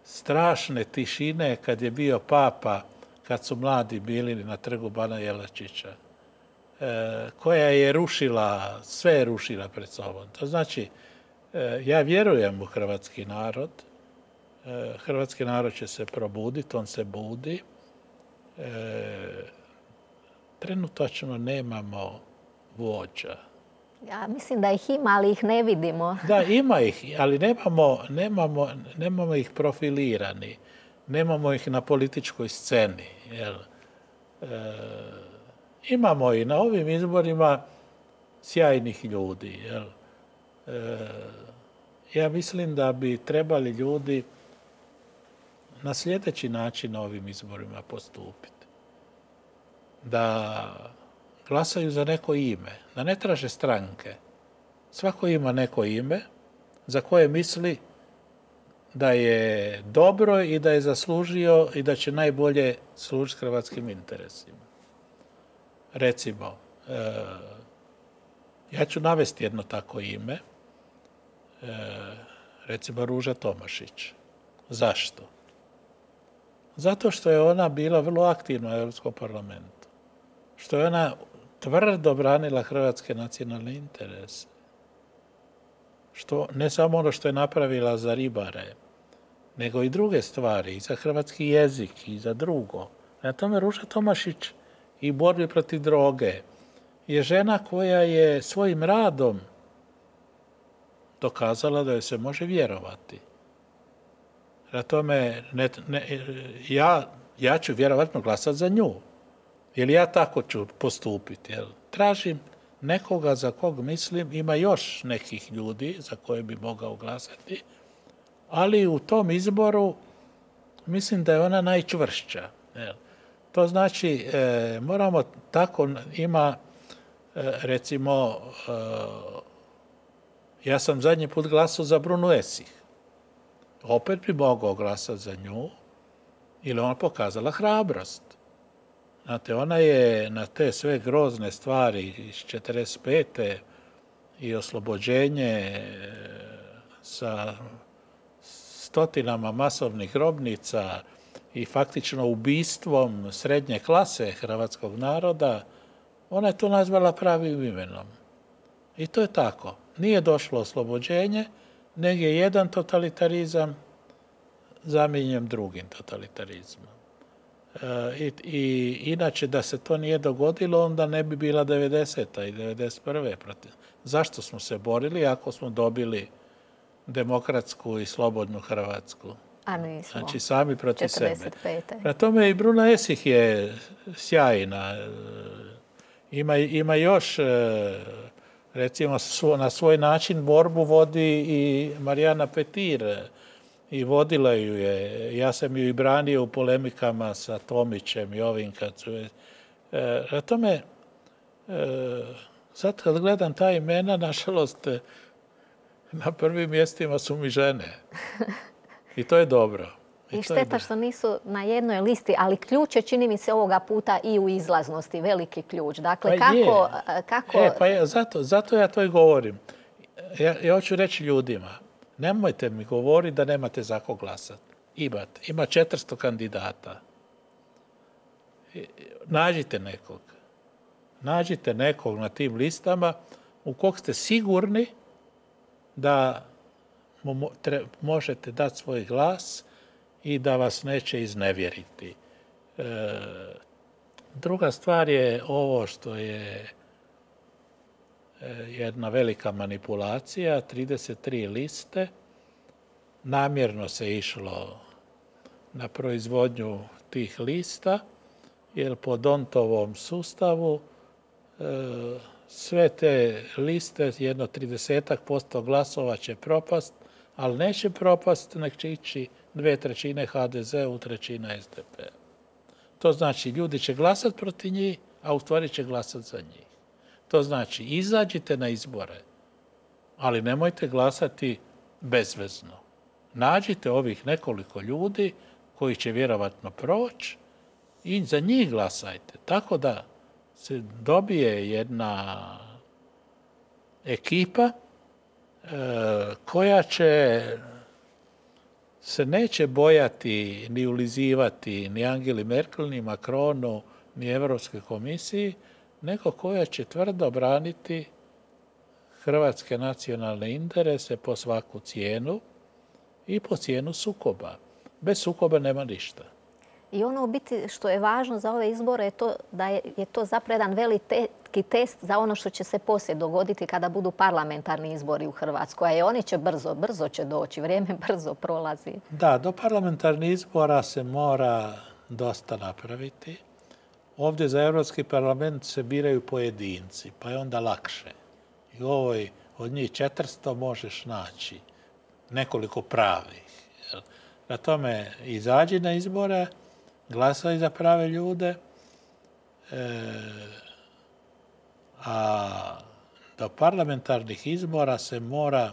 strašne tišine kad je bio papa, kad su mladi bili na trgu Bana Jelačića, e, koja je rušila, sve je rušila pred sobom. To znači, e, ja vjerujem u hrvatski narod. E, hrvatski narod će se probuditi, on se budi. E, trenutačno nemamo vođa. Ja mislim da ih ima, ali ih ne vidimo. Da, ima ih, ali nemamo, nemamo, nemamo ih profilirani. Nemamo ih na političkoj sceni. Jel? E, imamo i na ovim izborima sjajnih ljudi. Jel? E, ja mislim da bi trebali ljudi na sljedeći način na ovim izborima postupiti. Da glasaju za neko ime, da ne traže stranke. Svako ima neko ime za koje misli da je dobro i da je zaslužio i da će najbolje služiti hrvatskim interesima. Recimo, e, ja ću navesti jedno tako ime, e, recimo Ruža Tomašić. Zašto? Zato što je ona bila vrlo aktivna u Europskom parlamentu. Što je ona tvrdo branila hrvatske nacionalne interese. Što, ne samo ono što je napravila za ribare, nego i druge stvari, i za hrvatski jezik, i za drugo. Na tome Ruža Tomašić i borbi protiv droge je žena koja je svojim radom dokazala da joj se može vjerovati. Na tome ne, ne, ja, ja ću vjerovatno glasati za nju. Jer ja tako ću postupiti. Jel? Tražim nekoga za kog mislim, ima još nekih ljudi za koje bi mogao glasati, ali u tom izboru mislim da je ona najčvršća. Jel? To znači, e, moramo tako, ima, e, recimo, e, ja sam zadnji put glasao za Brunu Esih. Opet bi mogao glasati za nju, ili ona pokazala hrabrost. Znate, ona je na te sve grozne stvari iz četrdeset pete i oslobođenje sa stotinama masovnih grobnica i faktično ubistvom srednje klase hrvatskog naroda, ona je to nazvala pravim imenom. I to je tako. Nije došlo oslobođenje, nego je jedan totalitarizam zamijenjen drugim totalitarizmom. I, i inače da se to nije dogodilo, onda ne bi bila devedeseta i devedeset prve protiv. Zašto smo se borili ako smo dobili demokratsku i slobodnu Hrvatsku? A nismo. Znači sami protiv četrdeset pete. sebe. Prema tome i Bruna Esih je sjajna. Ima, ima još, recimo na svoj način borbu vodi i Marijana Petir. I vodila ju je. Ja sam ju i branio u polemikama sa Tomićem i ovim kad su... E, na tome, e, sad kad gledam ta imena, nažalost, na prvim mjestima su mi žene. I to je dobro. I, I šteta što nisu na jednoj listi, ali ključ je, čini mi se, ovoga puta i u izlaznosti, veliki ključ. Dakle, pa kako... kako... E, pa je, zato, zato ja to i govorim. Ja, ja hoću reći ljudima, Nemojte mi govoriti da nemate za kog glasati. Imate. Ima četiristo kandidata. Nađite nekog. Nađite nekog na tim listama u kog ste sigurni da mu možete dati svoj glas i da vas neće iznevjeriti. E, druga stvar je ovo što je jedna velika manipulacija, trideset tri liste. Namjerno se išlo na proizvodnju tih lista, jer po Dontovom sustavu e, sve te liste, jedno tridesetak posto glasova će propast, ali neće propast, nek će ići dve trećine ha de ze u, trećina es de pe. To znači, ljudi će glasati protiv njih, a u stvari će glasati za njih. To znači, izađite na izbore, ali nemojte glasati bezvezno. Nađite ovih nekoliko ljudi koji će vjerovatno proći i za njih glasajte. Tako da se dobije jedna ekipa e, koja će se neće bojati ni ulizivati ni Angeli Merkel, ni Macronu, ni Europskoj komisiji, nego koja će tvrdo braniti hrvatske nacionalne interese po svaku cijenu i po cijenu sukoba. Bez sukoba nema ništa. I ono u biti što je važno za ove izbore je to da je, je to zapravo jedan veliki test za ono što će se poslije dogoditi kada budu parlamentarni izbori u Hrvatskoj. A oni će brzo, brzo će doći, vrijeme brzo prolazi. Da, do parlamentarnih izbora se mora dosta napraviti. Ovdje za Europski parlament se biraju pojedinci, pa je onda lakše. I u ovoj od njih četiristo možeš naći nekoliko pravih. Na tome izađi na izbore, glasaj za prave ljude, e, a do parlamentarnih izbora se mora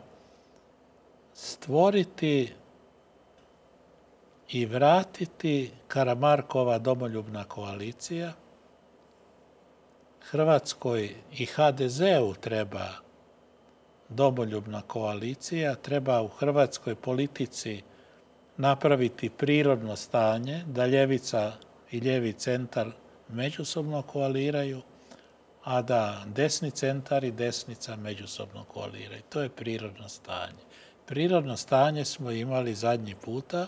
stvoriti i vratiti Karamarkova domoljubna koalicija. Hrvatskoj i ha de zeu treba domoljubna koalicija, treba u hrvatskoj politici napraviti prirodno stanje, da ljevica i ljevi centar međusobno koaliraju, a da desni centar i desnica međusobno koaliraju. To je prirodno stanje. Prirodno stanje smo imali zadnji puta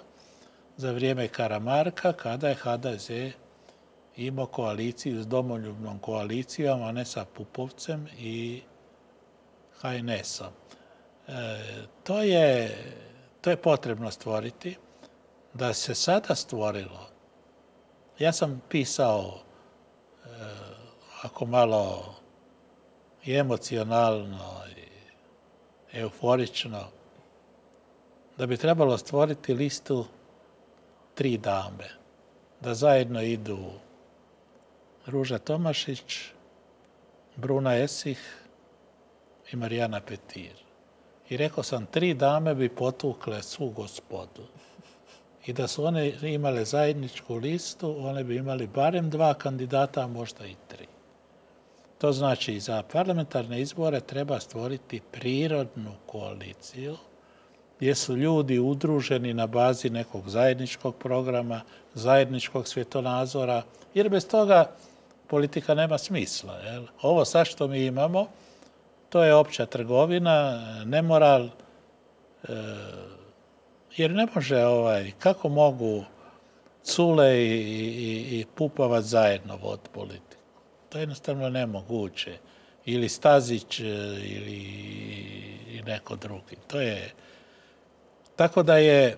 za vrijeme Karamarka, kada je ha de ze imao koaliciju s domoljubnom koalicijom, a ne sa Pupovcem i ha en esom. E, to je, to je potrebno stvoriti. Da se sada stvorilo, ja sam pisao, e, ako malo i emocionalno i euforično, da bi trebalo stvoriti listu tri dame, da zajedno idu Ruža Tomašić, Bruna Esih i Marijana Petir. I rekao sam, tri dame bi potukle svu gospodu. I da su one imale zajedničku listu, one bi imali barem dva kandidata, a možda i tri. To znači, za parlamentarne izbore treba stvoriti prirodnu koaliciju, gdje su ljudi udruženi na bazi nekog zajedničkog programa, zajedničkog svjetonazora, jer bez toga politika nema smisla. Jel? Ovo sad što mi imamo, to je opća trgovina, nemoral, e, jer ne može, ovaj, kako mogu Cule i, i, i Pupovac zajedno voditi politiku. To je jednostavno nemoguće. Ili Stazić ili i neko drugi. To je... Tako da je...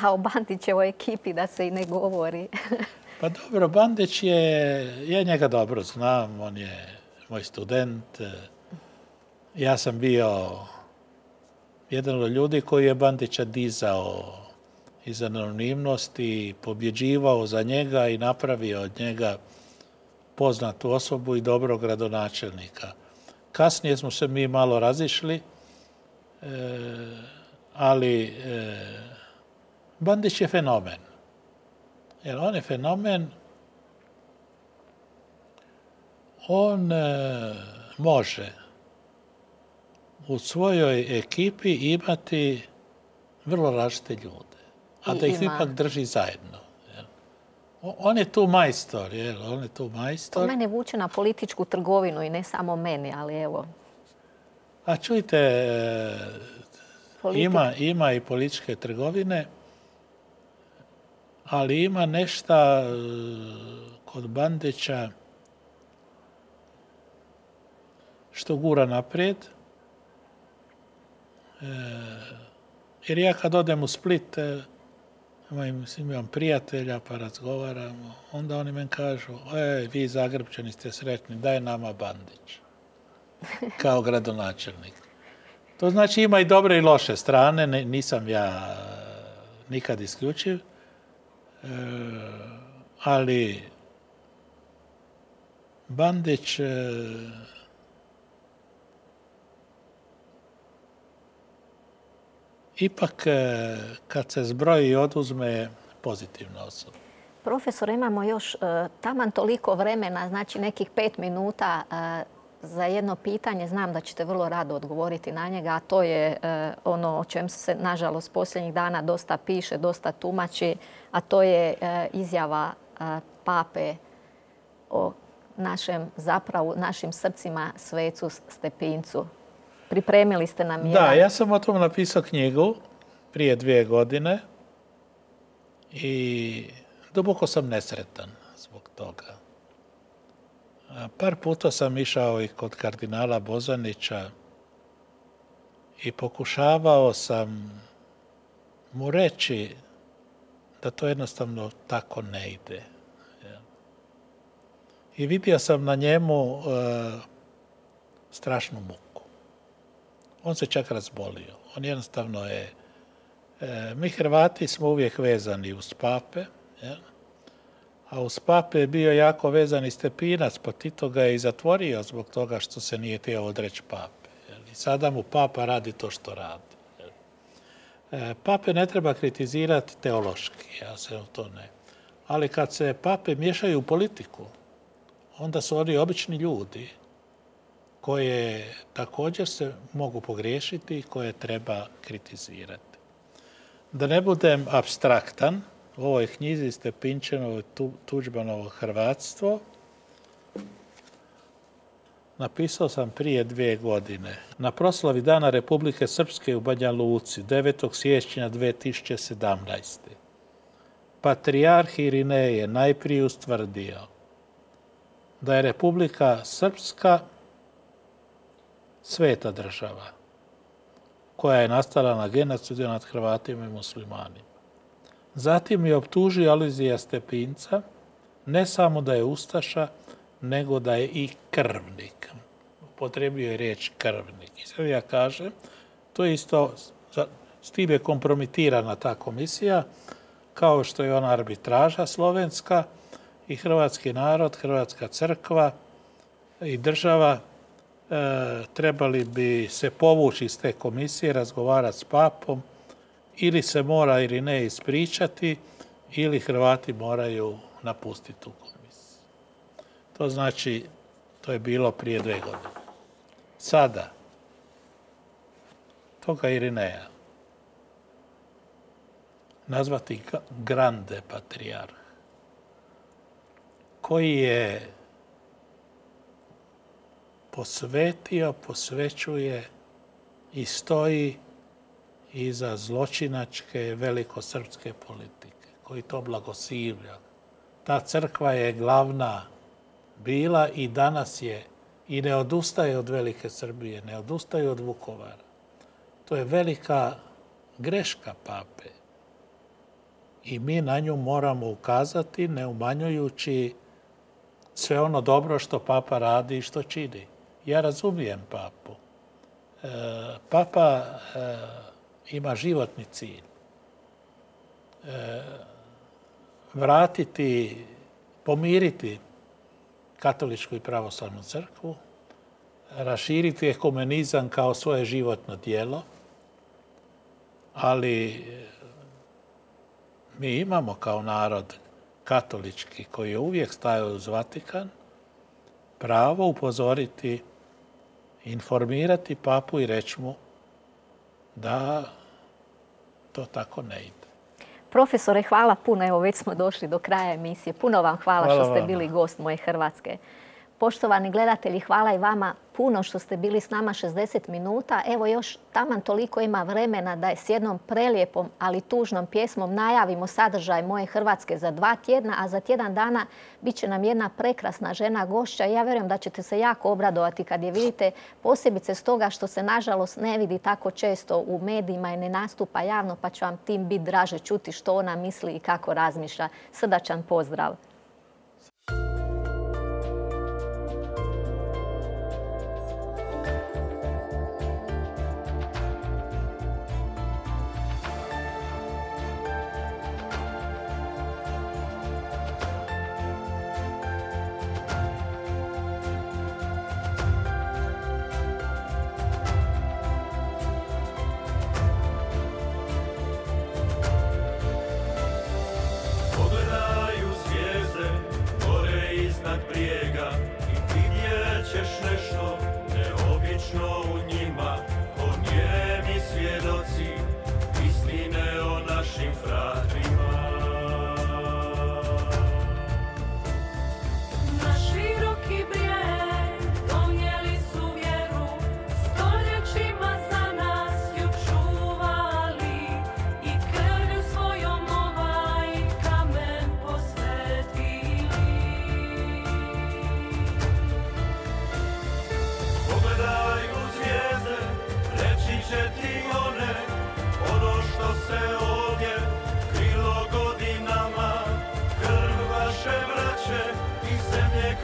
A o Bandićevoj ekipi da se i ne govori. Pa dobro, Bandić je... Ja njega dobro znam, on je moj student. Ja sam bio jedan od ljudi koji je Bandića dizao iz anonimnosti, pobjeđivao za njega i napravio od njega poznatu osobu i dobrog gradonačelnika. Kasnije smo se mi malo razišli, e, ali e, Bandić je fenomen. Jer on je fenomen, on e, može u svojoj ekipi imati vrlo različite ljude, a I da ih ima. ipak drži zajedno. Jel? On je tu majstor, jel? On je tu majstor. To mene vuče na političku trgovinu i ne samo meni, ali evo. A čujte, ima, ima i političke trgovine, ali ima nešto kod Bandića što gura naprijed. E, jer ja kad odem u Split, imam, imam prijatelja pa razgovaramo, onda oni meni kažu, e, vi Zagrebčani ste sretni, daj nama Bandić. Kao gradonačelnik. To znači ima i dobre i loše strane, nisam ja nikad isključiv, e, ali Bandić e, ipak e, kad se zbroji i oduzme pozitivna osoba. Profesor, imamo još e, taman toliko vremena, znači nekih pet minuta e, za jedno pitanje. Znam da ćete vrlo rado odgovoriti na njega, a to je e, ono o čem se, nažalost, posljednjih dana dosta piše, dosta tumači, a to je e, izjava e, pape o našem, zapravo, našim srcima svecu Stepincu. Pripremili ste nam jedan... Da, ja sam o tom napisao knjigu prije dvije godine i duboko sam nesretan zbog toga. Par puta sam išao i kod kardinala Bozanića i pokušavao sam mu reći da to jednostavno tako ne ide. I vidio sam na njemu uh, strašnu muku. On se čak razbolio. On jednostavno je... E, mi Hrvati smo uvijek vezani uz pape, jel? A uz pape je bio jako vezan i Stepinac, pa Tito ga je i zatvorio zbog toga što se nije htio odreći pape. Jel? I sada mu papa radi to što radi. Jel? E, pape ne treba kritizirati teološki, ja se u to ne. Ali kad se pape miješaju u politiku, onda su oni obični ljudi koje također se mogu pogriješiti i koje treba kritizirati. Da ne budem apstraktan, u ovoj knjizi Stepinčanovo Tuđmanovo hrvatstvo napisao sam prije dvije godine. Na proslavi Dana Republike Srpske u Banja Luci, devetog siječnja dvije tisuće sedamnaeste. Patrijarh Irinej najprije ustvrdio da je Republika Srpska sveta država koja je nastala na genocidu nad Hrvatima i muslimanima. Zatim je optužio Alojzija Stepinca ne samo da je ustaša, nego da je i krvnik. Upotrijebio je riječ krvnik. I sad ja kažem, to je isto, s tim je kompromitirana ta komisija, kao što je ona arbitraža slovenska i hrvatski narod, hrvatska crkva i država e, trebali bi se povući iz te komisije, razgovarati s papom, ili se mora ili ne ispričati, ili Hrvati moraju napustiti tu komisiju. To znači, to je bilo prije dvije godine. Sada, toga Irineja nazvati grande patrijarh, koji je posvetio, posvećuje i stoji iza zločinačke velikosrpske politike, koji to blagosilja. Ta crkva je glavna bila i danas je i ne odustaje od velike Srbije, ne odustaje od Vukovara. To je velika greška pape. I mi na nju moramo ukazati, ne umanjujući sve ono dobro što papa radi i što čini. Ja razumijem papu. E, papa e, ima životni cilj. E, vratiti, pomiriti katoličku i pravoslavnu crkvu, raširiti ekumenizam kao svoje životno djelo, ali mi imamo kao narod katolički koji je uvijek stajao uz Vatikan pravo upozoriti informirati papu i reći mu da to tako ne ide. Profesore, hvala puno. Evo, već smo došli do kraja emisije. Puno vam hvala, hvala što ste vama. Bili gost Moje Hrvatske. Poštovani gledatelji, hvala i vama puno što ste bili s nama šezdeset minuta. Evo još taman toliko ima vremena da je s jednom prelijepom, ali tužnom pjesmom najavimo sadržaj Moje Hrvatske za dva tjedna, a za tjedan dana bit će nam jedna prekrasna žena gošća. Ja vjerujem da ćete se jako obradovati kad je vidite, posebice stoga što se nažalost ne vidi tako često u medijima i ne nastupa javno, pa će vam tim biti draže čuti što ona misli i kako razmišlja. Srdačan pozdrav!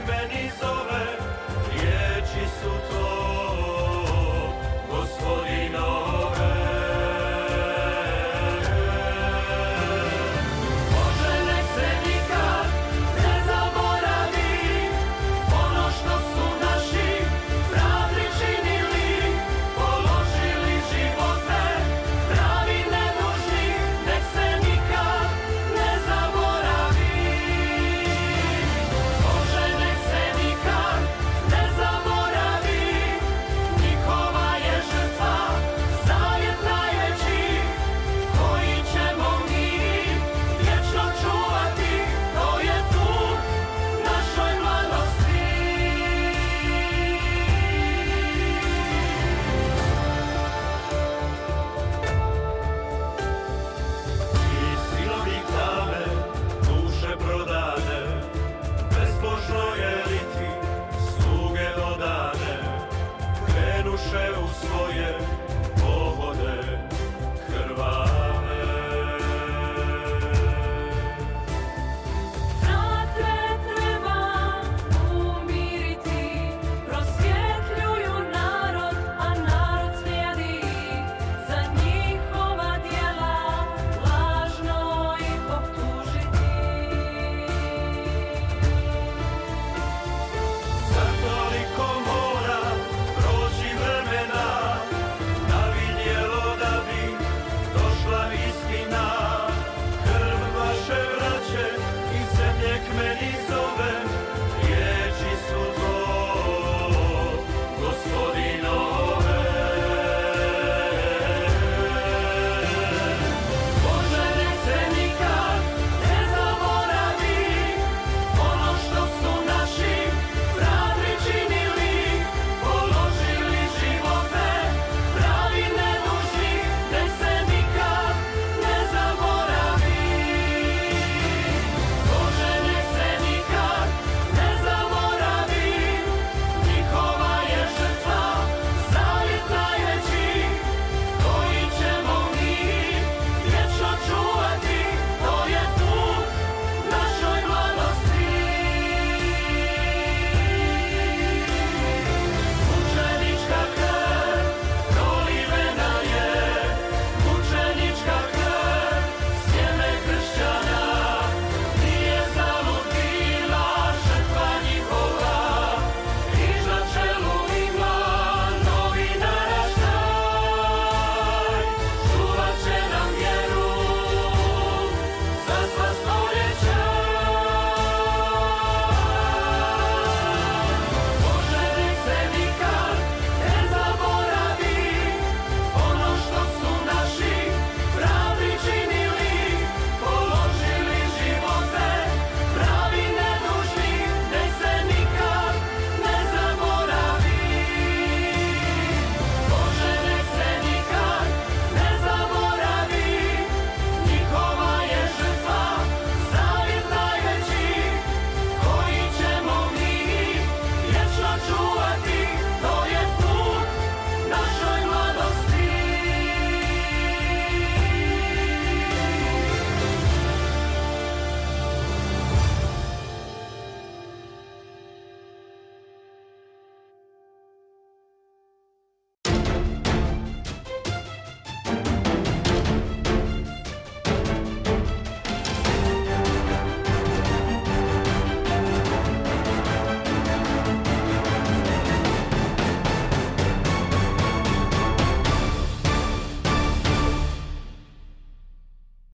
Meni zove